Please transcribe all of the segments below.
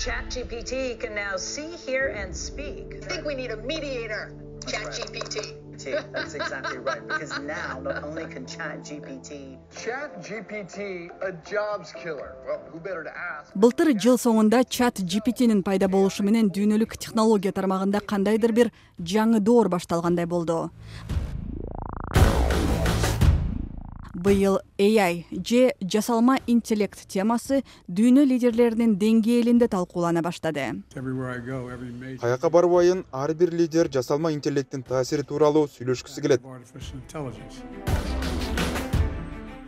ChatGPT can now see, hear, and speak. I think we need a mediator. ChatGPT. That's exactly right. Because now, not only can ChatGPT a jobs killer. Well, who better to ask? Былтыр жыл соңунда ChatGPT'нин пайда болушу менен дүйнөлүк технология тармагында кандайдыр бир жаңы доор башталгандай болду. Быйыл AI же жасалма интеллект темасы дүйнө лидерлеринин деңгээлинде талкуулана баштады. Каяка барбайын ар бир лидер жасалма интеллекттин таасири тууралуу сүйлөшкүсү келет.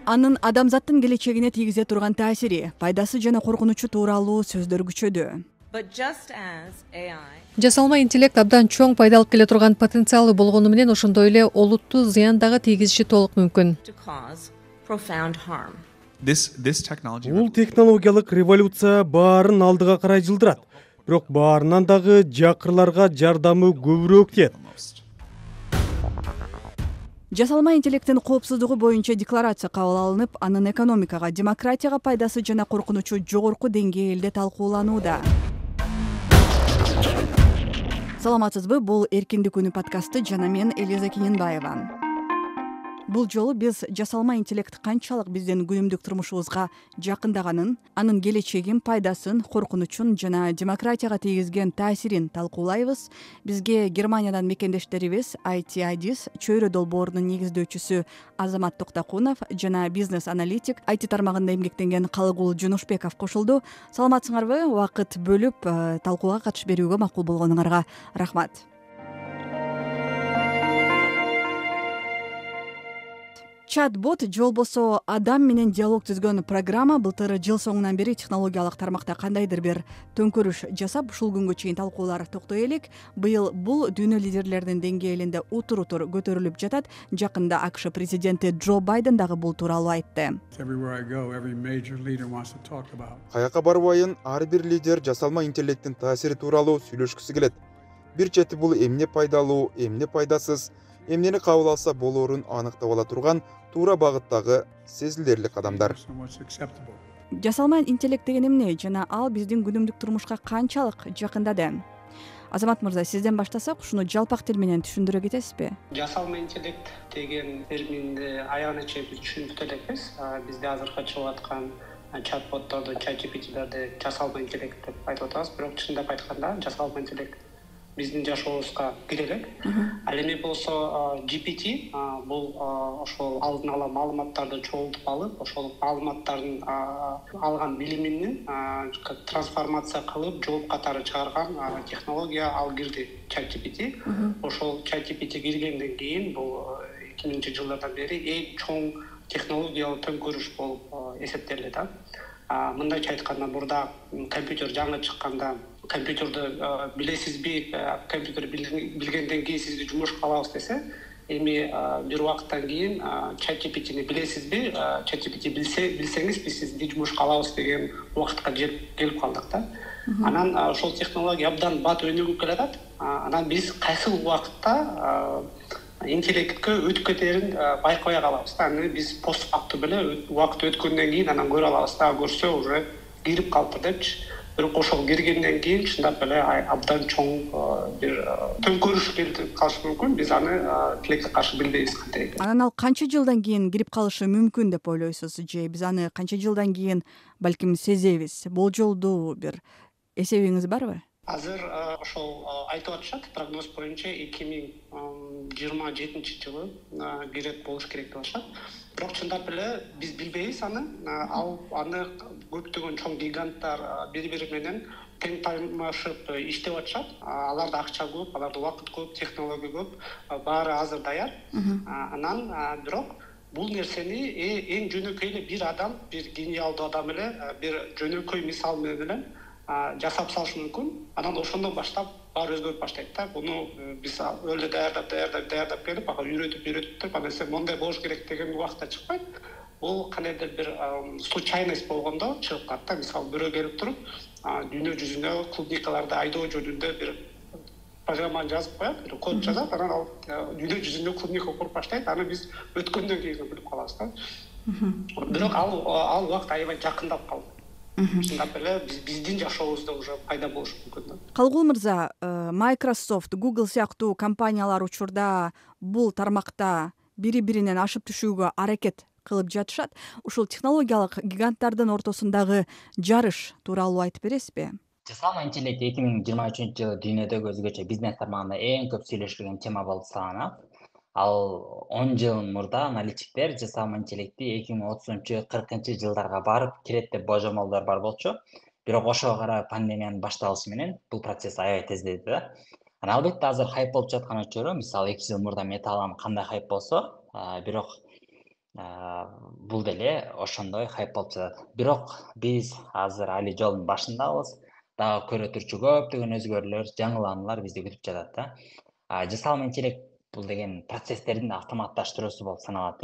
Анын адамзаттын келечегине тийгизе турган таасири, пайдасы жана коркунучу тууралуу сөздөр күчөдү. Жасалма интеллект абдан чоң пайда алып келе турган потенциалы болгону менен ошондой эле олуттуу зыян дагы тийгизиши толук мүмкүн. Бул технологиялык революция баарын алдыга карай жылдырат. Бирок баарынан дагы жакырларга жардамы көбүрөөк тиет. Жасалма интеллекттин коопсуздугу боюнча декларация кабыл алынып, анын экономикага, демократияга пайдасы жана коркунучу жогорку деңгээлде талкууланууда. Саламатсызбы, бул Эркиндик күнү подкасты жана мен Элиза Кененбаева. Бул жолу биз жасалма интеллект канчалык биздин күнүмдүк турмушубузга жакындаганын, анын келечегин, пайдасын, коркунучун жана демократияга тийгизген таасирин талкуулайбыз. Бизге Германиядан мекендештерибиз IT чөйрө долбоорунун негиздөөчүсү Азамат Токтокунов жана бизнес-аналитик IT тармагында эмгектенген Калыгул Жунушбеков кошулду. Саламатсыңарбы? Убакыт бөлүп талкууга катышып берүүгө макул болгонуңарга рахмат. Чат-бот же болбосо адам менен диалог түзгөн программа былтыр жыл соңунан бери технологиялык тармакта кандайдыр бир төңкөрүш жасап, ушул күнгө чейин талкуулар токтой элек. Быйыл бул дүйнө лидерлеринин деңгээлинде утур-утур көтөрүлүп жатат. Жакында АКШ президенти Джо Байден дагы бул тууралуу айтты. Каяка барбайын ар бир лидер жасалма интеллекттин таасири тууралуу сүйлөшкүсү келет. Бир чети бул эмне пайдалуу, эмне пайдасыз, эмнени кабыл алса болоорун аныктап ала турган туура багыттагы сезилерлик кадамдар. Жасалма интеллект деген эмне жана ал биздин күнүмдүк турмушка канчалык жакындады? Азамат мырза, сизден баштасак, ушуну жалпак тил менен түшүндүрө кетесизби? Жасалма интеллект деген терминди аягына чейин биз түшүнүп элекпиз. Бизде азыркы чыгып аткан чат-ботторду, ChatGPT'лерди жасалма интеллект деп айтып атабыз, бирок чындап айтканда жасалма интеллект биздин жашообузга кире элек. Ал эми болсо GPT бул ошол алдын ала маалыматтарды чогултуп алып, ошол маалыматтардын алган билимин трансформация кылып жооп катары чыгарган технология ал кирди ChatGPT. Ошол ChatGPT киргенден кийин бул 2000-жылдардан бери эң чоң технологиялык төңкөрүш болуп эсептелет. Мындайча айтканда, мурда компьютер жаңы чыкканда компьютерди билесизби, компьютер билгенден кийин сизди жумушка алабыз десе, эми бир убакыттан кийин ChatGPT'ни билесизби, ChatGPT билсеңиз биз сизди жумушка алабыз деген убакытка келип калдык да. Анан ошол технология абдан бат өнүгүп келатат. Анан биз кайсы убакытта интеллектке өтүп кетерин байкабай калабыз да. Аны биз постфактум эле убакыт өткөндөн кийин анан көрө алабыз да, көрсө уже кирип калыптыр депчи. Бирок ошол киргенден кийин чындап эле абдан чоң бир төңкөрүш келип калышы мүмкүн. Биз аны тилекке каршы билбейбиз кантип. Анан ал канча жылдан кийин кирип калышы мүмкүн деп ойлойсуз же биз аны канча жылдан кийин балким сезебиз? Болжолдуу бир эсебиңиз барбы? Азыр ошол айтып атышат, прогноз боюнча 2027-жылы кирет болуш керек деп атышат. Бирок чындап эле биз билбейбиз аны. Аны көптөгөн чоң гиганттар бири-бири менен тең таймашып иштеп атышат. Аларда акча көп, аларда убакыт көп, технология көп, баары азыр даяр. Анан бирок бул нерсени эң жөнөкөй эле бир адам, бир гениалдуу адам эле бир жөнөкөй мисал менен жасап салышы мүмкүн. Анан ошондон баштап баары өзгөрүп баштайт да. Буну биз өлө даярдап келип, үйрөтүп, анан сен мондай болуш керек деген убакытта чыкпайт. Бул кандайдыр бир случайность болгондо чыгып калат да. Мисалы бирөө келип туруп, дүйнө жүзүнө клубникаларды айдоо жөнүндө бир программаны жазып коет, бир код жазат, анан ал дүйнө жүзүнө клубника куруп баштайт. Аны биз өткөндөн кийин билип калабыз да. Бирок ал убакыт аябай жакындап калды. чындап эле биздин жашообузда уже пайда болушу мүмкүн да. Калгул мырза, Microsoft, Google сыяктуу компаниялар учурда бул тармакта бири-биринен ашып түшүүгө аракет кылып жатышат. Ушул технологиялык гиганттардын ортосундагы жарыш тууралуу айтып бересизби? Жасалма интеллект 2023 жылы дүйнөдөгү өзгөчө бизнес тармагында эң көп сүйлөшүлгөн тема болуп саналат. Ал 10 жыл мурда аналитиктер жасалма интеллекти 2030-40 жылдарга барып кирет деп божомолдор бар болчу. Бирок ошого карай пандемиянын башталышы менен бул процесс аябай тездеди да. Албетте азыр хайп болуп жаткан өчүрү, мисалы 2 жыл мурда металлам кандай хайп болсо, бирок бул деле ошондой хайп болуп жатат. Бирок биз азыр али жолдун башындабыз. Дагы көрө турчу көптөгөн өзгөрүүлөр, жаңылануулар бизди күтүп жатат да. Жасалма интеллект бул деген процесстердин автоматташтыруусу болуп саналат.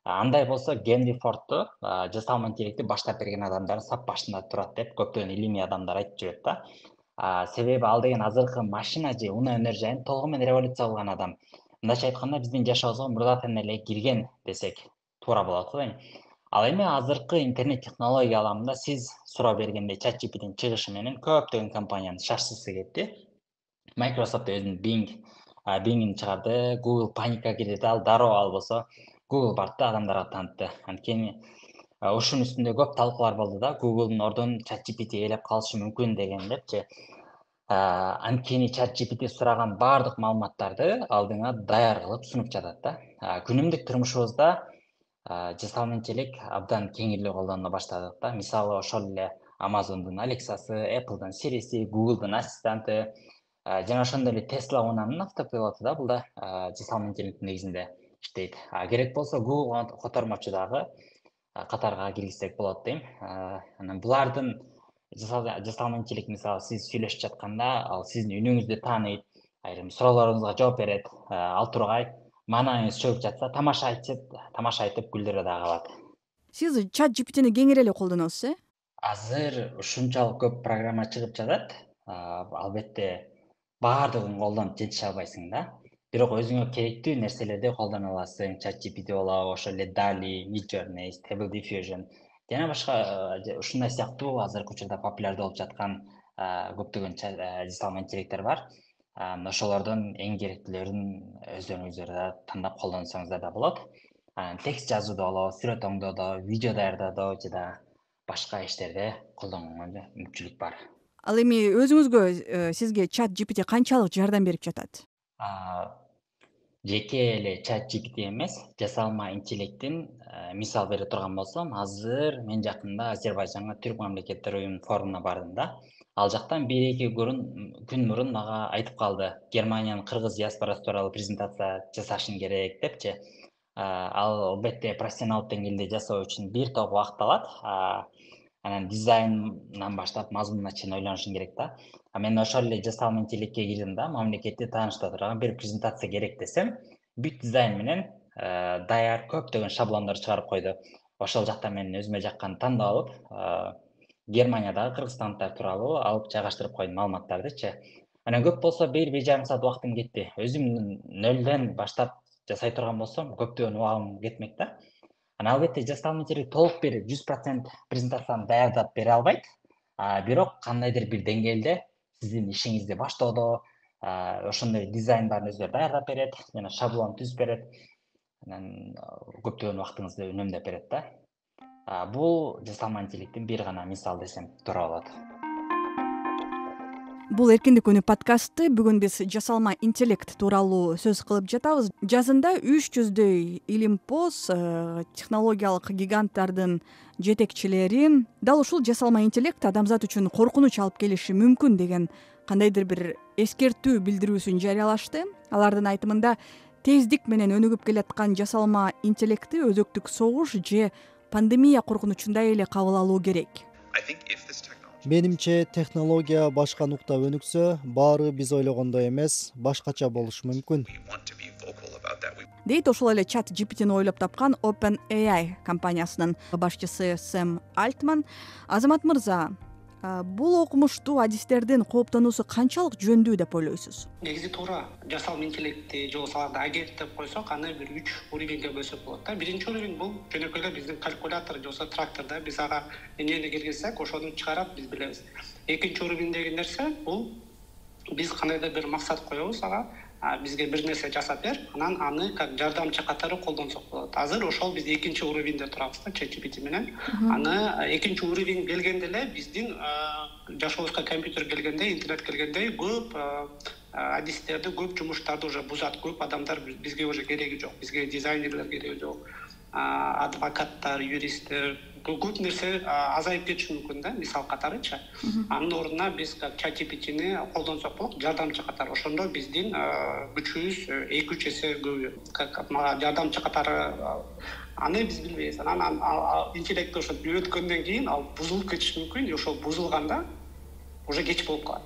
Андай болсо Генри Фордту жасалма интеллектти баштап берген адамдардын сап башында турат деп көптөгөн илимий адамдар айтып жүрөт да. Себеби ал деген азыркы машина же унаа өнөр жайын толугу менен революция кылган адам. Мындайча айтканда биздин жашообузга мурдатан эле кирген десек туура болот го. Ал эми азыркы интернет технология аламында сиз суроо бергендей ChatGPT'нин чыгышы менен көптөгөн компаниянын шашсысы кетти. Microsoft өзүнүн Bing'ин чыгарды, Google паника кирди, ал дароо албосо Google бартты адамдарга таанытты. Анткени ушунун үстүндө көп талкуулар болду да, Google'дун ордун ChatGPT ээлеп калышы мүмкүн деген депчи. Анткени ChatGPT сураган баардык маалыматтарды алдыңа даяр кылып сунуп жатат да. Күнүмдүк турмушубузда жасалма интеллект абдан кеңирлүү колдонула баштадык да. Мисалы ошол эле Amazon'дун Alexa'сы, Apple'дун Siri'си, Google'дун ассистенти жана ошондой эле Tesla унаанын автопилоту да бул да жасалма интеллекттин негизинде иштейт. Керек болсо Google котормочу дагы катарга киргизсек болот дейм. Анан булардын жасалма интеллект мисалы сиз сүйлөшүп жатканда ал сиздин үнүңүздү тааныйт, айрым суроолоруңузга жооп берет, ал тургай маанаңыз чөгүп жатса тамаша айтып күлдүрө дагы алат. Сиз ChatGPT'ни кеңири эле колдоносуз, Азыр ушунчалык көп программа чыгып жатат. Албетте баардыгын колдонуп жетише албайсың да. Бирок өзүңө керектүү нерселерди колдоно аласың. ChatGPT болобу, ошол эле DALL-E, Midjourney, Stable Diffusion жана башка ушундай сыяктуу азыркы учурда популярдуу болуп жаткан көптөгөн жасалма интеллекттер бар. Ошолордон эң керектүүлөрүн өздөрүңүздөр тандап колдонсоңуздар да болот. Текст жазууда болобу, сүрөт оңдоодо, видео даярдоодо жана башка иштерде колдонгонго мүмкүнчүлүк бар. Ал эми өзүңүзгө сизге ChatGPT канчалык жардам берип жатат? Жеке эле ChatGPT эмес, жасалма интеллекттин мисал бере турган болсом, азыр мен жакында Азербайжанга Түрк мамлекеттер уюмунун форумуна бардым да. Ал жактан 1-2 күн мурун мага айтып калды, Германиянын кыргыз диаспорасы тууралуу презентация жасашың керек депчи. Ал албетте профессионалдык деңгээлде жасоо үчүн бир топ убакыт алат. Анан дизайндан баштап мазмунуна чейин ойлонушуң керек да. Мен ошол эле жасалма интеллектке кирдим да, мамлекетти таанышта турган бир презентация керек десем, бүт дизайн менен даяр көптөгөн шаблондор чыгарып койду. Ошол жакта мен өзүмө жаккан тандап алып, Германиядагы кыргызстандыктар тууралуу алып жайгаштырып койдум маалыматтардычы. Анан көп болсо 1-1,5 саат убактым кетти. Өзүм нөлдөн баштап жасай турган болсом, көптөгөн убагым кетмек да. Анан албетте жасалма интеллект толук бир 100% презентацияны даярдап бере албайт. Бирок кандайдыр бир деңгээлде сиздин ишиңизди баштоодо ошондой дизайн баарын өздөрү даярдап берет, жана шаблон түзүп берет. Анан көптөгөн убактыңызды үнөмдөп берет да. Бул жасалма интеллекттин бир гана мисал десем туура болот. Бул эркиндик күнү подкасты. Бүгүн биз жасалма интеллект тууралуу сөз кылып жатабыз. Жазында 300дөй илимпоз технологиялык гиганттардын жетекчилери дал ушул жасалма интеллект адамзат үчүн коркунуч алып келиши мүмкүн деген кандайдыр бир эскертүү билдирүүсүн жарыялашты. Алардын айтымында тездик менен өнүгүп келаткан жасалма интеллектти өзөктүк согуш же пандемия коркунучундай эле кабыл алуу керек. Менимче технология башка нукта өнүксө, баары биз ойлогондой эмес, башкача болушу мүмкүн. Дейт ошол эле ChatGPT'ни ойлоп тапкан OpenAI компаниясынын башчысы Сэм Альтман. Азамат мырза, Бул окумуштуу адистердин кооптонуусу канчалык жөндүү деп ойлойсуз? Негизи туура. Жасалма интеллектти же болбосо агент деп койсок, аны бир 3 уровеньге бөлсөк болот да. Биринчи уровень бул жөнөкөй эле биздин калькулятор же болбосо тракторда биз ага эмнени киргизсек, ошону чыгарат, биз билебиз. Экинчи уровеньдеги нерсе бул биз кандайдыр бир максат коебуз ага, бизге бир нерсе жасап бер, анан аны как жардамчы катары колдонсок болот. Азыр ошол биз экинчи уровеньде турабыз да, ChatGPT менен. Аны экинчи уровень келгенде эле биздин жашообузга компьютер келгенде, интернет келгенде көп адистерди, көп жумуштарды уже бузат. Көп адамдар бизге уже кереги жок. Бизге дизайнерлер кереги жок. Адвокаттар, юристтер, көп нерсе азайып кетиши мүмкүн да, мисал катарычы. Анын ордуна биз ChatGPT-ни колдонсок болот, жардамчы катары. Ошондо биздин күчүбүз 2-3 эсе көбөйөт. Мага жардамчы катары аны биз билбейбиз. Анан интеллектти ошо үйрөткөндөн кийин ал бузулуп кетиши мүмкүн, ошол бузулганда уже кеч болуп калат.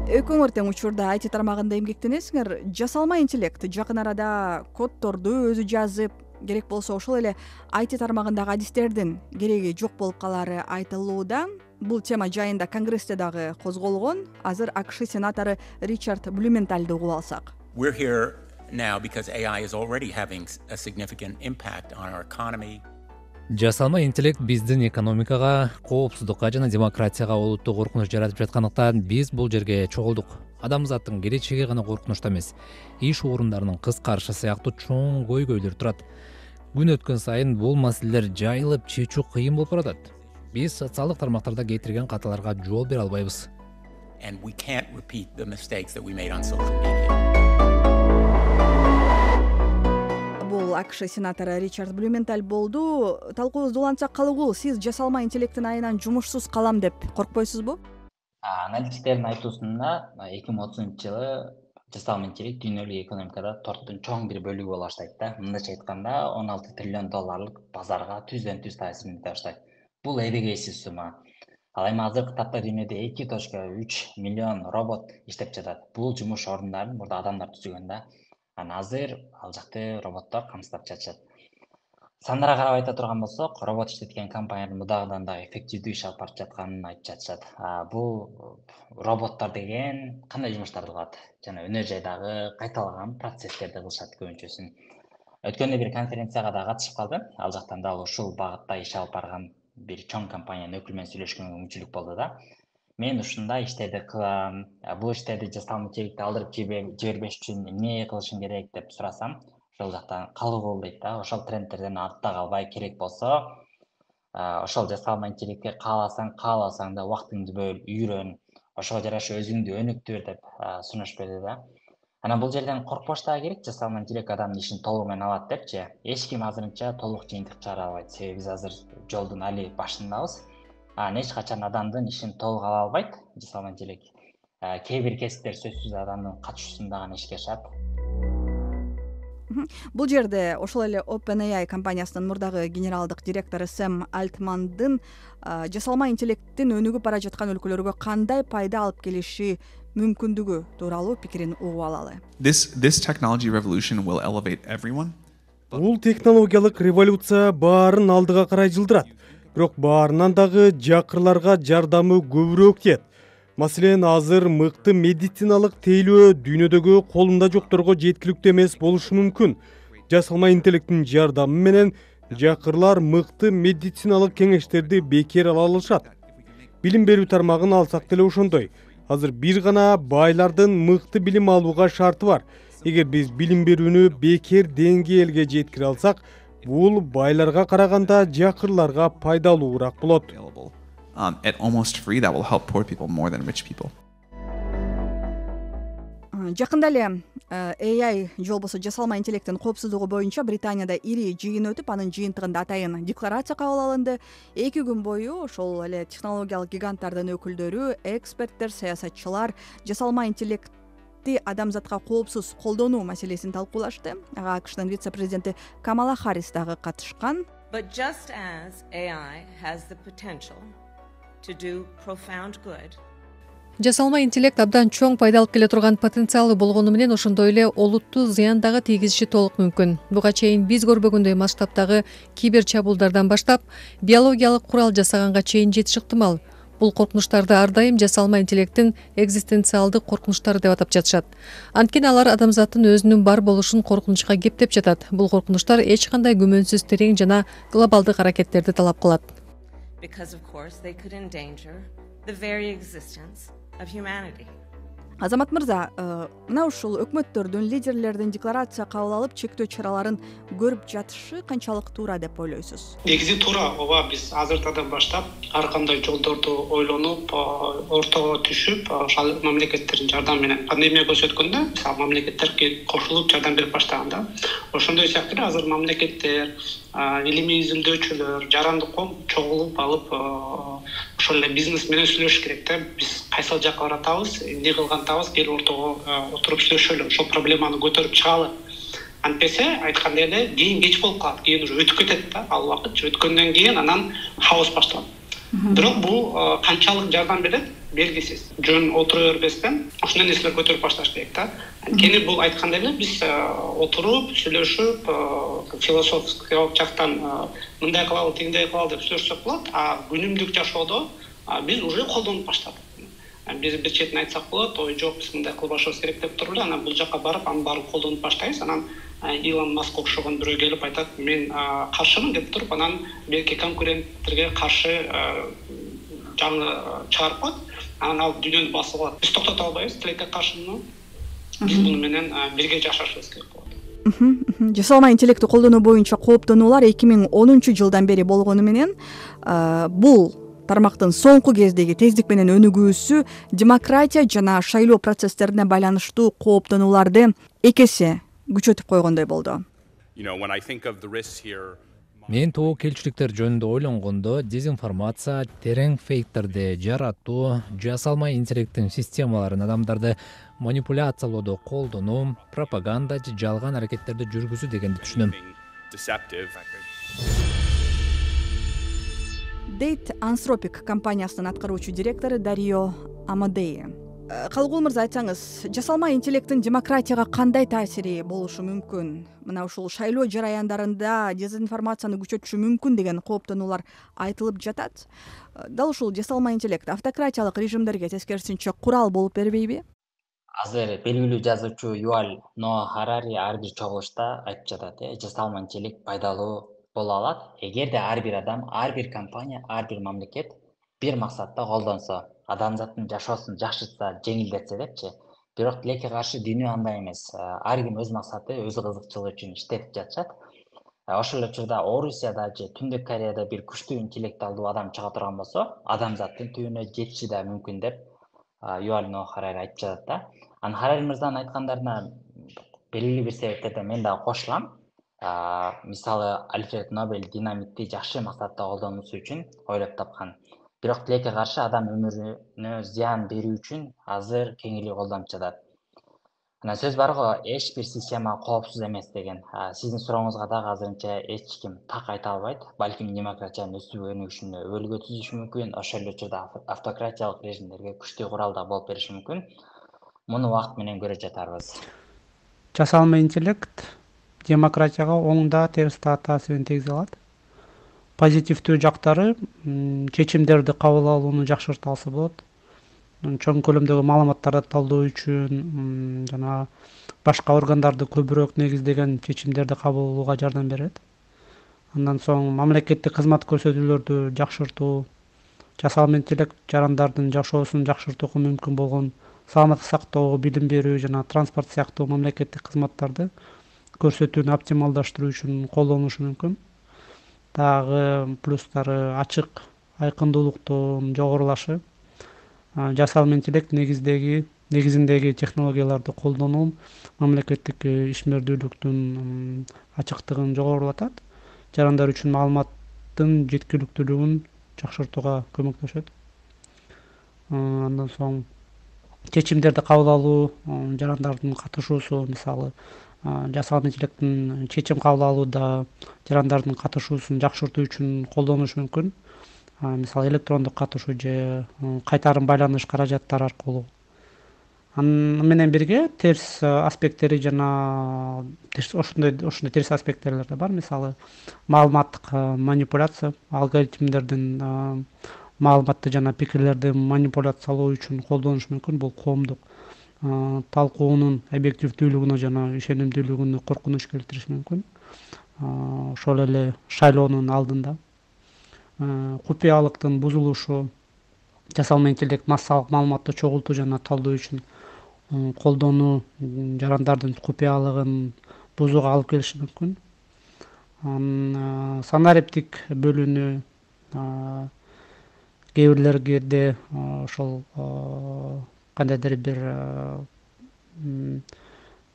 Экөөңөр тең учурда IT тармагында эмгектенесиңер. Жасалма интеллект жакын арада коддорду өзү жазып, керек болсо ошол эле IT тармагындагы адистердин кереги жок болуп калары айтылууда. Бул тема жайында Конгрессте дагы козголгон. Азыр АКШ сенатору Ричард Блюментальды угуп алсак. We're here now because AI is already having a significant impact on our economy. Жасалма интеллект биздин экономикага, коопсуздукка жана демократияга олуттуу коркунуч жаратып жаткандыктан биз бул жерге чогулдук. Адамзаттын келечеги гана коркунучта эмес, иш орундарынын кыскарышы сыяктуу чоң көйгөйлөр турат. Күн өткөн сайын бул маселелер жайылып чечүү кыйын болуп баратат. Биз социалдык тармактарда кетирген каталарга жол бере албайбыз. And we can't repeat the mistakes that we made on social media. Бул АКШ сенатору Ричард Блюменталь болду. Талкуубузду улантсак калгул, сиз жасалма интеллекттин айынан жумушсуз калам деп коркпойсузбу? Аналитиктердин айтуусунда 2030-жылы жасалма интеллект дүйнөлүк экономикада торттун чоң бир бөлүгү боло баштайт да. Мындайча айтканда, $16 триллион базарга түздөн-түз таасирин эте баштайт. Бул эбегейсиз сумма. Ал эми азыркы тапта дүйнөдө 2.3 миллион робот иштеп жатат. Бул жумуш орундарын мурда адамдар түзгөн да. Азыр ал жакты роботтор камсыздап жатышат. Сандарга карап айта турган болсок, робот иштеткен компаниянын мудагынан дагы эффективдүү иш алып барып жатканын айтып жатышат. Бул роботтор деген кандай жумуштарды кылат? Жана өнөр жайдагы кайталаган процесстерди кылышат көбүнчөсүн. Өткөндө бир конференцияга да катышып калдым. Ал жактан дагы ушул багытта иш алып барган бир чоң компаниянын өкүлү менен сүйлөшкөнгө мүмкүнчүлүк болду да. Мен ушундай иштерди кылам, бул иштерди жасалма интеллектти алдырып жибербеш үчүн эмне кылышым керек деп сурасам, ошол жактан калгыл дейт да. Ошол трендтерден артта калбай, керек болсо, ошол жасалма интеллектке кааласаң да убактыңды бөл, үйрөн, ошого жараша өзүңдү өнүктүр деп сунуш берди да. Анан бул жерден коркпош дагы керек, жасалма интеллект адамдын ишин толугу менен алат депчи. Эч ким азырынча толук жыйынтык чыгара албайт, себеби биз азыр жолдун али башындабыз. Эч качан адамдын ишин толук ала албайт жасалма интеллект. Кээ бир кесиптер сөзсүз адамдын катышуусунда гана ишке ашат. Бул жерде ошол эле OpenAI компаниясынын мурдагы генералдык директору Сэм Альтмандын жасалма интеллекттин өнүгүп бара жаткан өлкөлөргө кандай пайда алып келиши мүмкүндүгү тууралуу пикирин угуп алалы. This technology revolution will elevate everyone. Бул технологиялык революция баарын алдыга карай жылдырат. Бирок баарынан дагы жакырларга жардамы көбүрөөк тиет. Маселен, азыр мыкты медициналык тейлөө дүйнөдөгү колунда жокторго жеткиликтүү эмес болушу мүмкүн. Жасалма интеллекттин жардамы менен жакырлар мыкты медициналык кеңештерди бекер ала алышат. Билим берүү тармагын алсак деле ошондой. Азыр бир гана байлардын мыкты билим алууга шарты бар. Эгер биз билим берүүнү бекер деңгээлге жеткире алсак, бул байларга караганда жакырларга пайдалуураак болот. At almost free, that will help poor people more than rich people. Жакында эле AI же болбосо жасалма интеллекттин коопсуздугу боюнча Британияда ири жыйын өтүп, анын жыйынтыгында атайын декларация кабыл алынды. 2 күн бою ошол эле технологиялык гиганттардын өкүлдөрү, эксперттер, саясатчылар жасалма интеллектти адамзатка коопсуз колдонуу маселесин талкуулашты. Ага АКШнын вице-президенти Камала Харрис дагы катышкан. But just as AI has the potential to do profound good. жасалма интеллект абдан чоң пайда алып келе турган потенциалы болгону менен ошондой эле олуттуу зыян дагы тийгизиши толук мүмкүн. Буга чейин биз көрбөгөндөй масштабтагы кибер чабуулдардан баштап биологиялык курал жасаганга чейин жетиши ыктымал. Бул коркунучтарды ар дайым жасалма интеллекттин экзистенциалдык коркунучтары деп атап жатышат. Анткени алар адамзаттын өзүнүн бар болушун коркунучка кептеп жатат. Бул коркунучтар эч кандай күмөнсүз терең жана глобалдык аракеттерди талап кылат. Азамат мырза, мына ушул өкмөттөрдүн, лидерлердин декларация кабыл алып чектөө чараларын көрүп жатышы канчалык туура деп ойлойсуз? Негизи туура. Ооба, биз азыртадан баштап ар кандай жолдорду ойлонуп, ортого түшүп, ошол мамлекеттердин жардамы менен пандемия көрсөткөндө, мисалы мамлекеттер кошулуп жардам берип баштаганда, ошондой сыяктуу азыр мамлекеттер, илимий изилдөөчүлөр, жарандык коом чогулуп алып, ошол эле бизнес менен сүйлөшүш керек да. Биз кайсыл жакка баратабыз, эмне кылгантабыз, кел ортого отуруп сүйлөшөлү, ошол проблеманы көтөрүп чыгалы. Антпесе айткандай эле кийин кеч болуп калат, кийин уже өтүп кетет да, ал убакыт өткөндөн кийин анан хаос башталат. Бирок бул канчалык жардам берет белгисиз. Жөн отура бербестен ушундай нерселер көтөрүп башташ керек да. Анткени бул айткандай эле биз отуруп, сүйлөшүп, философиялык жактан мындай кылалы, тигиндей кылалы деп сүйлөшсөк болот, а күнүмдүк жашоодо биз уже колдонуп баштадык. Биз бир четин айтсак болот, ой жок, биз мындай кылбашыбыз керек деп туруп эле, анан бул жакка барып, анын баарын колдонуп баштайбыз. Анан Илон Маск окшогон бирөө келип айтат, мен каршымын деп туруп, анан белки конкуренттерге каршы жаңы чыгарып коет. Анан ал дүйнөнү басып алат. Биз токтото албайбыз, тилекке каршымын. Биз буну менен бирге жашашыбыз керек болот. Жасалма интеллектти колдонуу боюнча кооптонуулар 2010 жылдан бери болгону менен бул тармактын соңку кездеги тездик менен өнүгүүсү демократия жана шайлоо процесстерине байланыштуу кооптонууларды эки эсе күчөтүп койгондой болду. Мен тобокелчиликтер жөнүндө ойлонгондо дезинформация, терең фейктерди жаратуу, жасалма интеллекттин системаларын адамдарды манипуляциялоодо колдонуу, пропаганда же жалган аракеттерди жүргүзүү дегенди түшүнөм. Дейт Anthropic компаниясынын аткаруучу директору Дарио Амадеи. Калгул мырза, айтсаңыз, жасалма интеллекттин демократияга кандай таасири болушу мүмкүн? Мына ушул шайлоо жараяндарында дезинформацияны күчөтүшү мүмкүн деген кооптонуулар айтылып жатат. Дал ушул жасалма интеллект автократиялык режимдерге тескерисинче курал болуп бербейби? Азыр белгилүү жазуучу Юваль Ноа Харари ар бир чогулушта айтып жатат, жасалма интеллект пайдалуу боло алат, эгерде ар бир адам, ар бир компания, ар бир мамлекет бир максатта колдонсо, адамзаттын жашоосун жакшыртса, жеңилдетсе депчи. Бирок тилекке каршы дүйнө андай эмес. Ар ким өз максаты, өз кызыкчылыгы үчүн иштетип жатышат. Ошол эле учурда Орусияда же Түндүк Кореяда бир күчтүү интеллектуалдуу адам чыга турган болсо, адамзаттын түбүнө жетиши да мүмкүн деп Юваль Ноа Харари айтып жатат да. Анан Харари мырзанын айткандарына белгилүү бир себептерден мен дагы кошулам. Мисалы, Альфред Нобель динамитти жакшы максатта колдонуусу үчүн ойлоп тапкан. Бирок тилекке каршы адам өмүрүнө зыян берүү үчүн азыр кеңири колдонуп жатат. Анан сөз бар го, эч бир система коопсуз эмес деген. Сиздин сурооңузга дагы азырынча эч ким так айта албайт. Балким демократиянын өсүп өнүгүшүнө өлгө түзүшү мүмкүн, ошол эле учурда автократиялык режимдерге күчтүү курал да болуп бериши мүмкүн. Муну убакыт менен көрө жатарбыз. Жасалма интеллект демократияга оң да терс да таасирин тийгизе алат. Позитивдүү жактары чечимдерди кабыл алууну жакшырта алса болот. Чоң көлөмдөгү маалыматтарды талдоо үчүн жана башка органдарды көбүрөөк негиздеген чечимдерди кабыл алууга жардам берет. Андан соң мамлекеттик кызмат көрсөтүүлөрдү жакшыртуу, жасалма интеллект жарандардын жашоосун жакшыртууга мүмкүн болгон саламаттык сактоо, билим берүү жана транспорт сыяктуу мамлекеттик кызматтарды көрсөтүүнү оптималдаштыруу үчүн колдонулушу мүмкүн. Дагы плюстары ачык айкындуулуктун жогорулашы, жасалма интеллект негизиндеги технологияларды колдонуу мамлекеттик ишмердүүлүктүн ачыктыгын жогорулатат, жарандар үчүн маалыматтын жеткиликтүүлүгүн жакшыртууга көмөктөшөт. Андан соң чечимдерди кабыл алуу, жарандардын катышуусу, мисалы жасалма интеллекттин чечим кабыл алууда жарандардын катышуусун жакшыртуу үчүн колдонуш мүмкүн. мисалы электрондук катышуу же кайтарым байланыш каражаттары аркылуу. Аны менен бирге терс аспекттери жана ошондой терс аспекттер да бар. Мисалы маалыматтык манипуляция, алгоритмдердин маалыматты жана пикирлерди манипуляциялоо үчүн колдонуш мүмкүн. Бул коомдук талкуунун объективдүүлүгүнө жана ишенимдүүлүгүнө коркунуч келтириши мүмкүн. Ошол эле шайлоонун алдында купуялыктын бузулушу, жасалма интеллект массалык маалыматты чогултуу жана талдоо үчүн колдонуу жарандардын купуялыгын бузууга алып келиши мүмкүн. Санариптик бөлүнүү кээ бирлерде ошол кандайдыр бир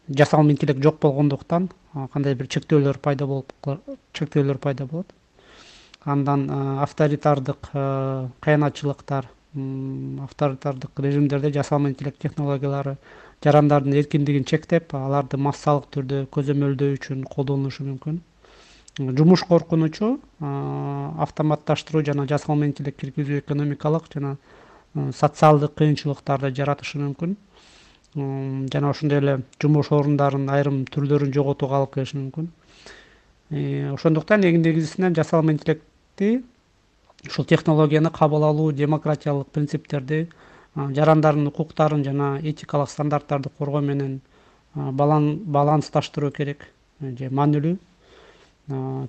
жасалма интеллект жок болгондуктан кандай бир чектөөлөр пайда болот. Андан авторитардык кыянатчылыктар, авторитардык режимдерде жасалма интеллект технологиялары жарандардын эркиндигин чектеп, аларды массалык түрдө көзөмөлдөө үчүн колдонулушу мүмкүн. Жумуш коркунучу, автоматташтыруу жана жасалма интеллект киргизүү экономикалык жана социалдык кыйынчылыктарды жаратышы мүмкүн. Жана ошондой эле жумуш орундарынын айрым түрлөрүн жоготууга алып келиши мүмкүн. Ошондуктан негизинен жасалма интеллектти, ушул технологияны кабыл алуу, демократиялык принциптерди, жарандардын укуктарын жана этикалык стандарттарды коргоо менен балансташтыруу керек же маанилүү.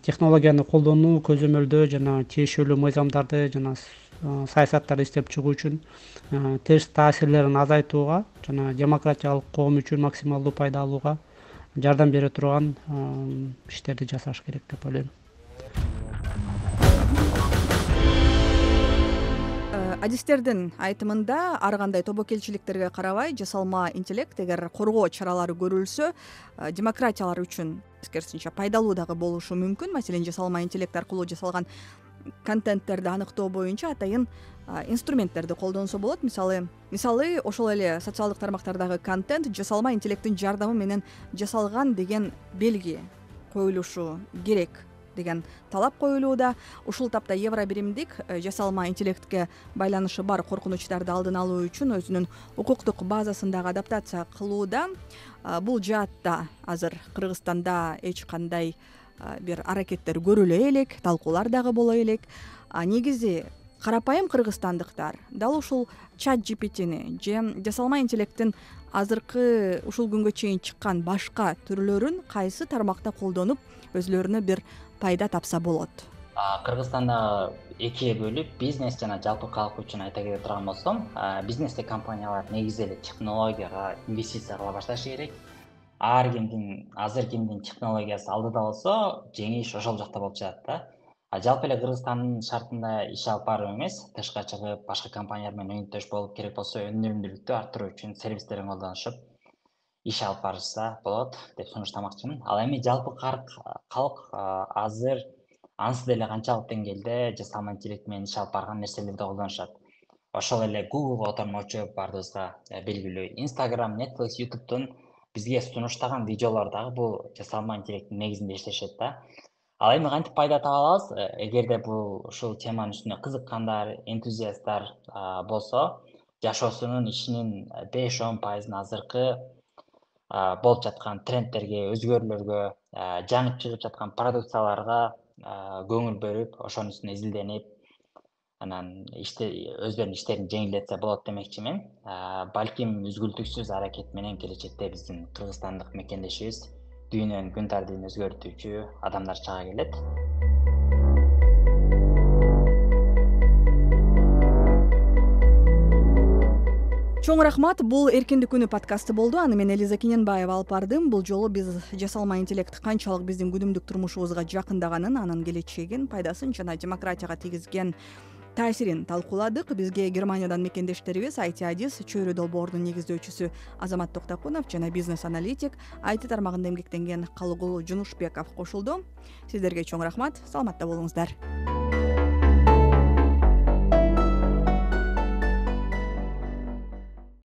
Технологияны колдонуу, көзөмөлдөө жана тиешелүү мыйзамдарды жана саясаттарды иштеп чыгуу үчүн терс таасирлерин азайтууга жана демократиялык коом үчүн максималдуу пайда алууга жардам бере турган иштерди жасаш керек деп ойлойм. Адистердин айтымында ар кандай тобокелчиликтерге карабай жасалма интеллект эгер коргоо чаралары көрүлсө, демократиялар үчүн тескерисинче пайдалуу дагы болушу мүмкүн. Маселен, жасалма интеллект аркылуу жасалган контенттерди аныктоо боюнча атайын инструменттерди колдонсо болот. Мисалы ошол эле социалдык тармактардагы контент жасалма интеллекттин жардамы менен жасалган деген белги коюлушу керек деген талап коюлууда. Ушул тапта евро биримдик жасалма интеллектке байланышы бар коркунучтарды алдын алуу үчүн өзүнүн укуктук базасындагы адаптация кылууда. Бул жаатта азыр Кыргызстанда эч кандай бир аракеттер көрүлө элек, талкуулар дагы боло элек. Негизи карапайым кыргызстандыктар дал ушул чат GPT-ни же жасалма интеллекттин азыркы ушул күнгө чейин чыккан башка түрлөрүн кайсы тармакта колдонуп өзлөрүнө бир пайда тапса болот? Кыргызстанда экиге бөлүп, бизнес жана жалпы калк үчүн айта келе турган болсом, бизнесте компаниялар негизи эле технологияга инвестиция кыла башташы керек. Азыр кимдин технологиясы алдыда болсо, жеңиш ошол жакта болуп жатат да. Жалпы эле Кыргызстандын шартында иш алып баруу эмес, тышка чыгып, башка компаниялар менен өнөктөш болуп, керек болсо өнүмдүүлүктү арттыруу үчүн сервистерин колдонушуп, иш алып барышса болот деп сунуштамакчымын. Ал эми жалпы калк азыр ансыз деле канчалык деңгээлде жасалма интеллект менен иш алып барган нерселерди колдонушат. Ошол эле Google'га отормочу баарыбызга белгилүү. Instagram, Netflix, YouTube'тун бизге сунуштаган видеолор дагы бул жасалма интеллекттин негизинде иштешет да. Ал эми кантип пайда таба алабыз? Эгерде ушул теманын үстүнө кызыккандар, энтузиасттар болсо, жашоосунун ишинин 5-10% азыркы болуп жаткан трендтерге, өзгөрүүлөргө, жаңы чыгып жаткан продукцияларга көңүл бөлүп, ошонун үстүнө изилденип, анан өздөрүнүн иштерин жеңилдетсе болот демекчимин. Балким үзгүлтүксүз аракет менен келечекте биздин кыргызстандык мекендешибиз дүйнөнүн күн тартибин өзгөртүүчү адамдар чыга келет. Чоң рахмат. Бул Эркиндик күнү подкасты болду. Аны мен Элиза Кененбаева алып бардым. Бул жолу биз жасалма интеллект канчалык биздин күнүмдүк турмушубузга жакындаганын, анын келечегин, пайдасын жана демократияга тийгизген таасирин талкууладык. Бизге Германиядан мекендештерибиз IT Адис чөйрө долбоорунун негиздөөчүсү Азамат Токтокунов жана бизнес-аналитик IT тармагында эмгектенген Калыгул Жунушбеков кошулду. Сиздерге чоң рахмат. Саламатта болуңуздар.